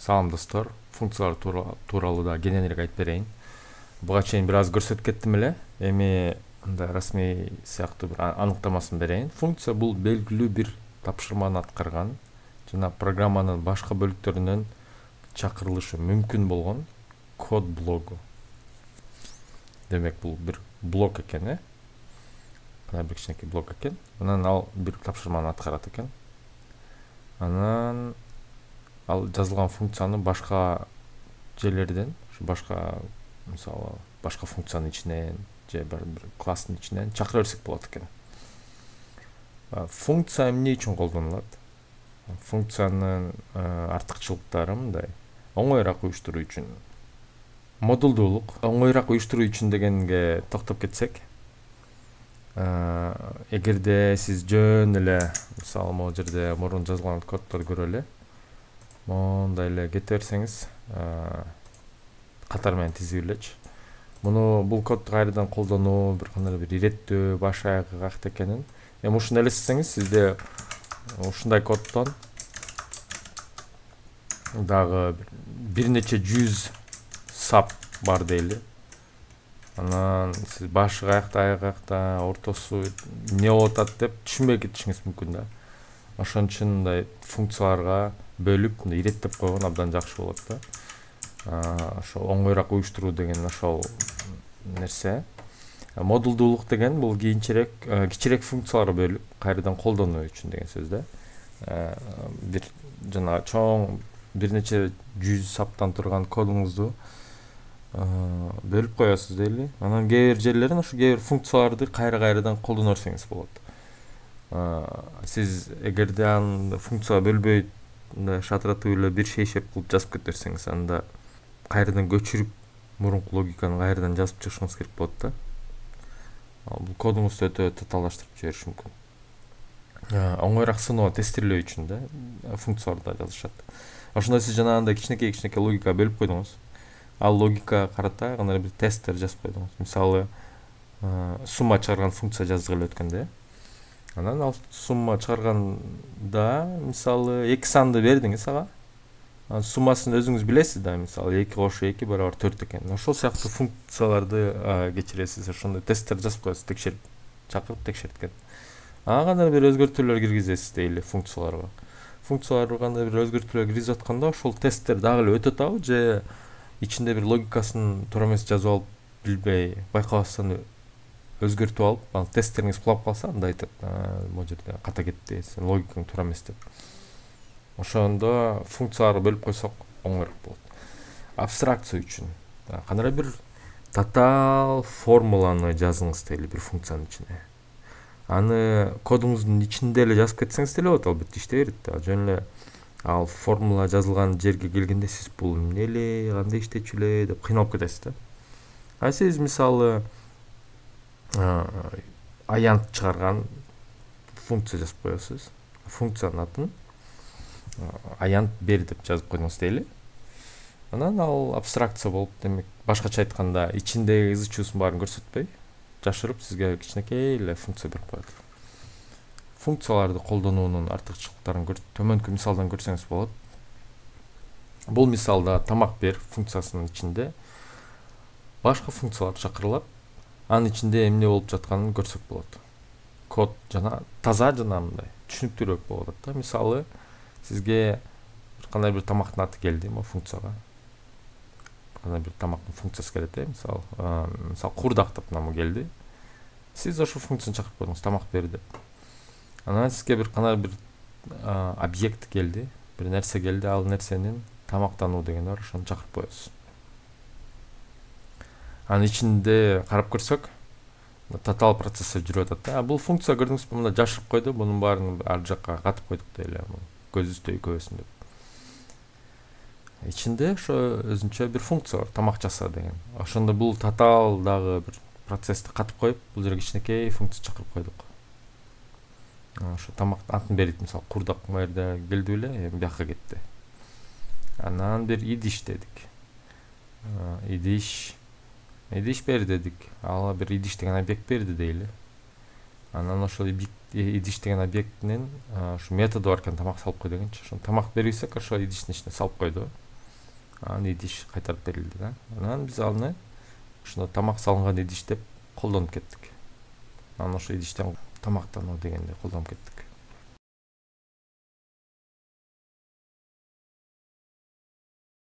Салам достор, функциялар тууралуу да кененирээк айтып берейин. Буга чейин бир аз көрсөтүп кеттим эле. Эми мындай расмий сыяктуу бир аныктамасын берейин. Функция бул белгилүү бир тапшырманы аткарган жана программанын башка бөлүктөрүнөн чакырылышы мүмкүн болгон код блогу. Демек бул бир блок экен, Мына бир кичинекей блок экен. Анан ал бир тапшырманы аткарат экен. Анан ал жазылган функцияны башка жерлерден, башка мисалы башка функциянын ичинен же бир класстын ичинен чакыра берсек болот экен. Функция эмне үчүн колдонулат? Функциянын артыкчылыктары мындай: оңоюраак уюштуруу үчүн. Модулдуулук, оңоюраак уюштуруу үчүн дегенге токтоп кетсек, эгерде сиз жөн эле мисалы могу жерде мурун жазылган коддорду көрөлү, мондай эле кете берсеңиз, катар менен тизип элечи. Бул кодду кайрадан колдонуу бир кандай бир иреттөө, баш аягы какты экенин. Эми ушуну элестетсеңиз, сизде ушундай коддон дагы бир нече жүз сап бар дейли. Анан сиз башы каякта, аягы каякта, ортосу эмне болуп атат деп түшүнбөй кетишиңиз мүмкүн да. Ошон үчүн мындай функцияларга бөлүп, мындай иреттеп койгон абдан жакшы болот да. Ошо оңоюраак уюштуруу деген ошол нерсе. Модулдуулук деген бул кийинчерээк кичирээк функцияларга бөлүп кайрадан колдонуу үчүн деген сөз да. Бир жана чоң бир нече жүз саптан турган кодуңузду бөлүп коесуз дейли. Анан кээ бир жерлерин ошо кээ бир функцияларды кайрадан колдоно берсеңиз болот. Сиз эгерде аны функцияга бөлбөй мындай шатыратып эле бир шейшеп кылып жазып кете берсеңиз, анда кайрадан көчүрүп мурунку логиканы кайрадан жазып чыгышыңыз керек болот да. Бул кодуңузду өтө татаалдаштырып жибериши мүмкүн. Оңоюраак сыноо, тестирлөө үчүн да функцияларды жазышат. Ошондо сиз жанагындай кичинекей логика бөлүп койдуңуз. Ал логикага карата кандай бир тесттер жазып койдуңуз. Мисалы, сумма чыгарган функция жазгыла өткөндө, анан ал сумма чыгарганда мисалы 2 санды бердиңиз ага. Суммасын өзүңүз билесиз да, мисалы 2 кошуу 2 барабар 4 экен. Ошол сыяктуу функцияларды кечиресиз. Ошондой тесттер жазып коесуз, текшерип, чакырып текшерткен. Ага кандай бир өзгөртүүлөр киргизесиз дейли функцияларга. Функцияларга кандай бир өзгөртүүлөр киргизип атканда, ошол тесттер дагы эле өтөт абы, же ичинде бир логикасын туура эмес жазып алып, билбей, байкабастан өзгөртүп алып, анан тесттериңиз кулап калса, анда айтат, могу жерде ката кетти, сен логикаң туура эмес деп. Ошондо функцияларга бөлүп койсок оңоюраак болот. Абстракция үчүн кандай бир татаал формуланы жазыңыз дейли бир функциянын ичине. Аны кодуңуздун ичинде эле жазып кетсеңиз деле болот, албетте иштей берет да. Жөн эле ал формула жазылган жерге келгенде сиз бул эмне эле, кандай иштечү эле деп кыйналып кетесиз да. Сиз мисалы аянт чыгарган функция жазып коесуз. Функциянын атын аянт бер деп жазып койдуңуз дейли. Анан ал абстракция болуп, демек башкача айтканда ичиндеги ызы чуусун баарын көрсөтпөй, жашырып сизге кичинекей эле функция берип коет. Функцияларды колдонуунун артыкчылыктарын төмөнкү мисалдан көрсөңүз болот. Бул мисалда тамак бер функциясынын ичинде башка функциялар чакырылат. Анын ичинде эмне болуп жатканын көрсөк болот. Код жана таза жана мындай түшүнүктүүрөөк болот да. Мисалы, сизге кандай бир тамактын аты келди могу функцияга. Кандай бир тамактын функциясы келет, мисалы куурдак деп намы келди. Сиз ошол функцияны чакырып койдуңуз, тамак бер деп. Анан сизге бир кандай бир объект келди, бир нерсе келди, ал нерсенин тамактануу деген бар, ошону чакырып коесуз. Анын ичинде карап көрсөк, татаал процесстер жүрүп атат. Бул функция көрдүңүзбү, мында жашырып койду, бунун баарын ар жакка катып койдук дейли, көзүбүздө көбөсүн деп. Ичинде ошо өзүнчө бир функция бар, тамак жаса деген. Ошондо бул татаал дагы бир процессти катып коюп, бул жерге кичинекей функция чакырып койдук. Ошо тамак атын берит, мисалы куурдак мына жерде келди беле, эми бияка кетти. Анан бир идиш дедик. Идиш бер дедик. Ага бир идиш деген объект берди дейли. Анан ошол идиш деген объекттин ошо методу бар экен, тамак салып кой дегенчи. Ошо тамак бербесек, ошо идиштин ичине салып койду. анан идиш кайтарып берилди да. Анан биз аны ошондо тамак салынган идиш деп колдонуп кеттик. Анан ошо идиштен тамактануу дегенде колдонуп кеттик.